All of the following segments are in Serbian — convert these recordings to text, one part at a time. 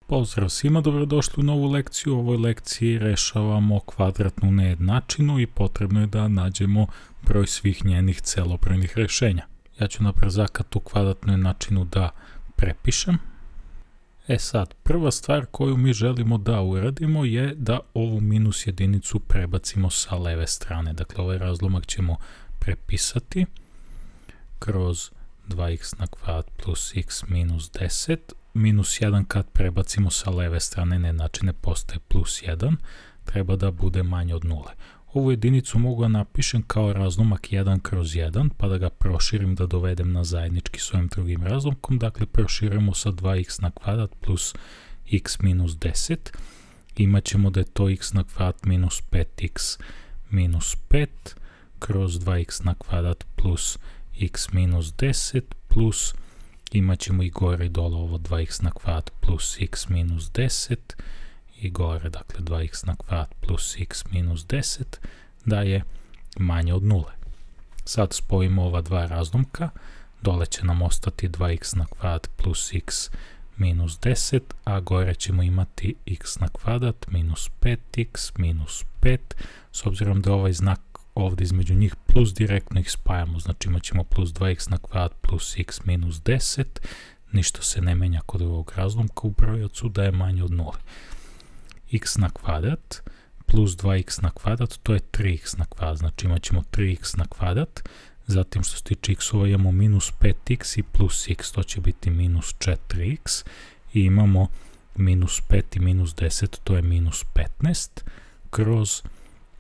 Pozdrav svima, dobrodošli u novu lekciju. U ovoj lekciji rešavamo kvadratnu nejednačinu i potrebno je da nađemo broj svih njenih celobrojnih rešenja. Ja ću na brzaka tu kvadratnu jednačinu da prepišem. Sad, prva stvar koju mi želimo da uradimo je da ovu minus jedinicu prebacimo sa leve strane. Dakle, ovaj razlomak ćemo prepisati kroz 2x na kvadrat plus x minus 10. Minus 1 kad prebacimo sa leve strane nejednačine postaje plus 1, treba da bude manje od 0. Ovu jedinicu mogu da napišem kao razlomak 1 kroz 1, pa da ga proširim da dovedem na zajednički s ovim drugim razlomkom. Dakle, proširimo sa 2x na kvadrat plus x minus 10. Imaćemo da je to x na kvadrat minus 5x minus 5 kroz 2x na kvadrat plus x minus 10 plus imat ćemo i gore i dole ovo 2x na kvadrat plus x minus 10 i gore, dakle 2x na kvadrat plus x minus 10 da je manje od 0. Sad spojimo ova dva razlomka, dole će nam ostati 2x na kvadrat plus x minus 10, a gore ćemo imati x na kvadrat minus 5x minus 5, s obzirom da ovaj znak ovdje između njih plus direktno ih spajamo, znači imat ćemo plus 2x na kvadrat plus x minus 10, ništa se ne menja kod ovog razlomka u brojacu da je manje od 0. X na kvadrat plus 2x na kvadrat, to je 3x na kvadrat, znači imat ćemo 3x na kvadrat, zatim što se tiče x-ova imamo minus 5x i plus x, to će biti minus 4x i imamo minus 5 i minus 10, to je minus 15, kroz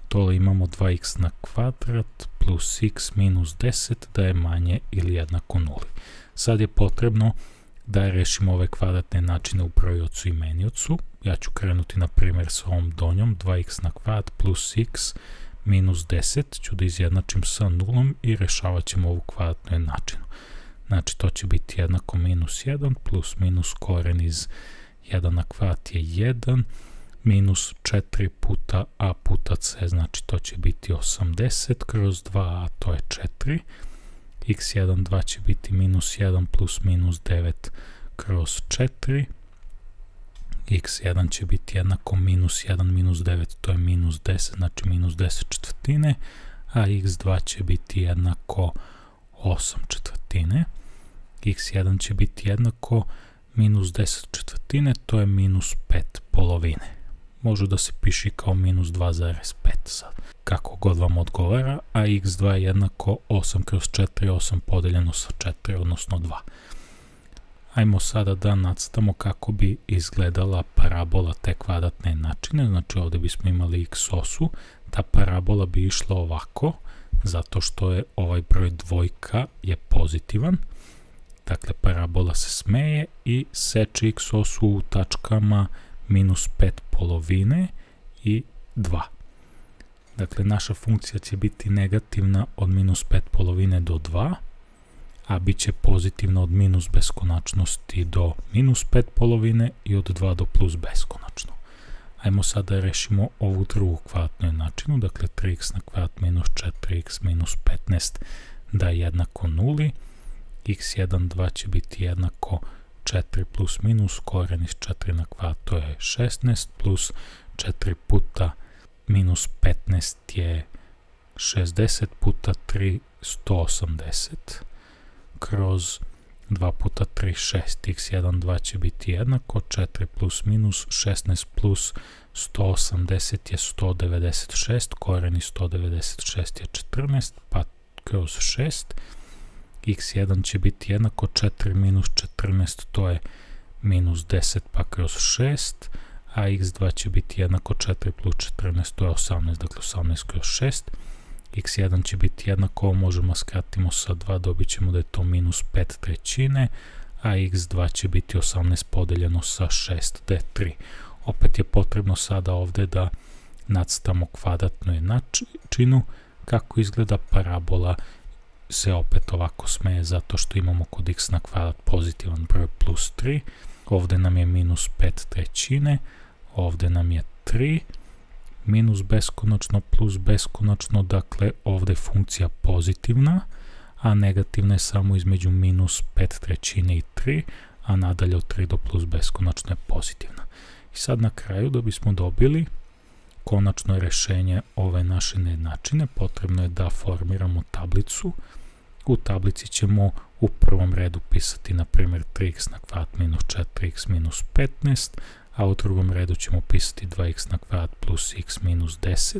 dole imamo 2x na kvadrat plus x minus 10 da je manje ili jednako 0. Sad je potrebno da rešimo ove kvadratne načine u brojiocu i meniocu. Ja ću krenuti na primjer sa ovom donjom, 2x na kvadrat plus x minus 10 ću da izjednačim sa 0 i rešavat ćemo ovu kvadratnu jednačinu. Znači to će biti jednako minus 1 plus minus koren iz 1 na kvadrat je 1 minus 4 puta a puta c, znači to će biti 80 kroz 2a, to je 4. x1, 2 će biti minus 1 plus minus 9 kroz 4. x1 će biti jednako minus 1 minus 9, to je minus 10, znači minus 10 četvrtine, a x2 će biti jednako 8 četvrtine. x1 će biti jednako minus 10 četvrtine, to je minus 5 polovine. Može da se piše kao minus 2,5 sad, kako god vam odgovara, a x2 je jednako 8 kroz 4, 8 podeljeno sa 4, odnosno 2. Ajmo sada da nacrtamo kako bi izgledala parabola te kvadratne jednačine, znači ovdje bismo imali x osu, ta parabola bi išla ovako, zato što je ovaj broj dvojka je pozitivan, dakle parabola se smeje i seče x osu u tačkama minus 5 polovine i 2. Dakle, naša funkcija će biti negativna od minus 5 polovine do 2, a bit će pozitivna od minus beskonačnosti do minus 5 polovine i od 2 do plus beskonačno. Ajmo sada da rešimo ovu drugu kvadratnu jednačinu, dakle 3x na kvadrat minus 4x minus 15 da je jednako 0, x1, 2 će biti jednako 4 plus minus koren iz 4 na kvadrat, to je 16, plus 4 puta minus 15 je 60 puta 3, 180, kroz 2 puta 3, 6, x1, 2 će biti jednako 4 plus minus 16 plus 180 je 196, koren iz 196 je 14, pa kroz 6, x1 će biti jednako 4 minus 14, to je minus 10 pa kroz 6, a x2 će biti jednako 4 plus 14, to je 18, dakle 18 kroz 6, x1 će biti jednako, možemo skratimo sa 2, dobit ćemo da je to minus 5 trećine, a x2 će biti 18 podeljeno sa 6, da je 3. Opet je potrebno sada ovdje da nacrtamo kvadratnu jednačinu, kako izgleda parabola se opet ovako smeje zato što imamo kod x na kvadrat pozitivan broj plus 3, ovdje nam je minus 5 trećine, ovdje nam je 3, minus beskonačno plus beskonačno, dakle ovdje je funkcija pozitivna, a negativna je samo između minus 5 trećine i 3, a nadalje od 3 do plus beskonačno je pozitivna. I sad na kraju, da bismo dobili konačno rešenje ove naše nejednačine, potrebno je da formiramo tablicu. U tablici ćemo u prvom redu pisati, na primjer, 3x na kvadrat minus 4x minus 15, a u drugom redu ćemo pisati 2x na kvadrat plus x minus 10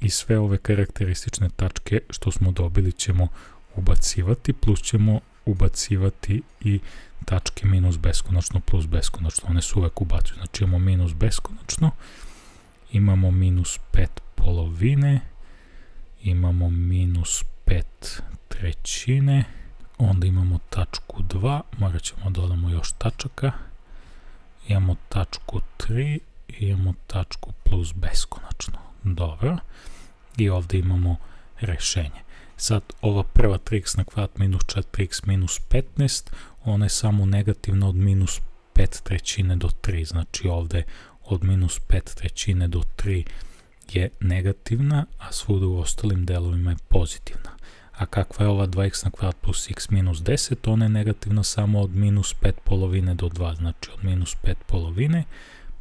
i sve ove karakteristične tačke što smo dobili ćemo ubacivati, plus ćemo ubacivati i tačke minus beskonačno plus beskonačno, one se uvek ubacuju, znači imamo minus beskonačno, imamo minus 5 polovine, imamo minus 5 trećine, onda imamo tačku 2, morat ćemo dodamo još tačaka, imamo tačku 3 i imamo tačku plus beskonačno. Dobro, i ovdje imamo rešenje. Sad ova prva 3x na kvadrat minus 4x minus 15, ona je samo negativna od minus 5 trećine do 3, znači ovdje od minus 5 trećine do 3 je negativna, a svuda u ostalim delovima je pozitivna. A kakva je ova 2x na kvadrat plus x minus 10, ona je negativna samo od minus 5 polovine do 2, znači od minus 5 polovine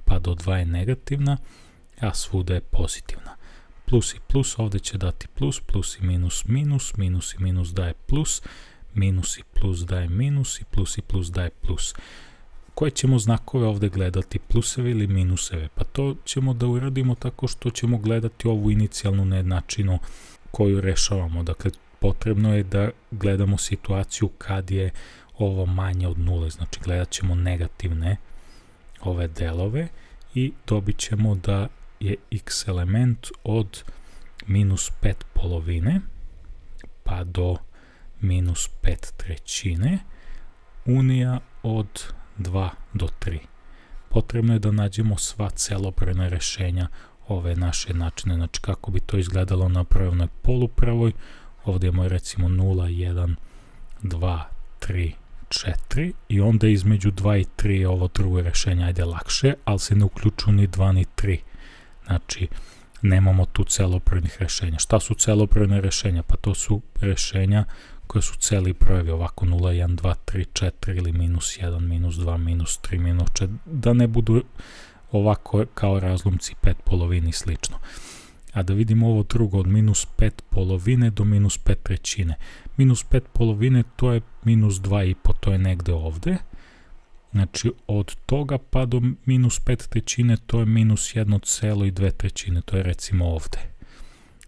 pa do 2 je negativna, a svuda je pozitivna. Plus i plus ovdje će dati plus, plus i minus minus, minus i minus daje plus, minus i plus daje minus i plus daje plus. Koje ćemo znakove ovdje gledati, pluseve ili minuseve? Pa to ćemo da uradimo tako što ćemo gledati ovu inicijalnu nejednačinu koju rešavamo. Dakle, potrebno je da gledamo situaciju kad je ovo manje od nule, znači gledat ćemo negativne ove delove i dobit ćemo da je x element od minus 5 polovine pa do minus 5 trećine unija od 2 do 3. Potrebno je da nađemo sva celobrojna rešenja ove naše jednačine, znači kako bi to izgledalo na pravoj polupravoj. Ovdje imamo recimo 0, 1, 2, 3, 4 i onda između 2 i 3 je ovo drugo rešenje, ajde lakše, ali se ne uključuju ni 2 ni 3. Znači, nemamo tu celobrojnih rešenja. Šta su celobrojne rešenja? Pa to su rešenja koje su celi brojevi, ovako 0, 1, 2, 3, 4 ili minus 1, minus 2, minus 3, minus 4, da ne budu ovako kao razlomci 5 polovini i slično. A da vidimo ovo drugo, od minus 5 polovine do minus 5 trećine. Minus 5 polovine to je minus 2,5, to je negde ovde. Znači od toga pa do minus 5 trećine to je minus 1,2 trećine, to je recimo ovde.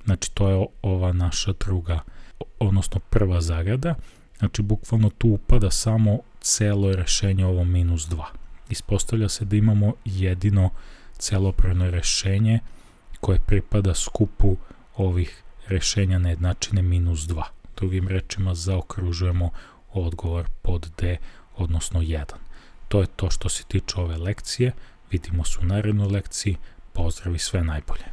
Znači to je ova naša druga, odnosno prva zagrada. Znači bukvalno tu upada samo celo rešenje ovo minus 2. Ispostavlja se da imamo jedino celobrojno rešenje koje pripada skupu ovih rešenja nejednačine minus 2. Drugim rečima zaokružujemo odgovor pod D, odnosno 1. To je to što se tiče ove lekcije. Vidimo se u narednoj lekciji. Pozdrav i sve najbolje.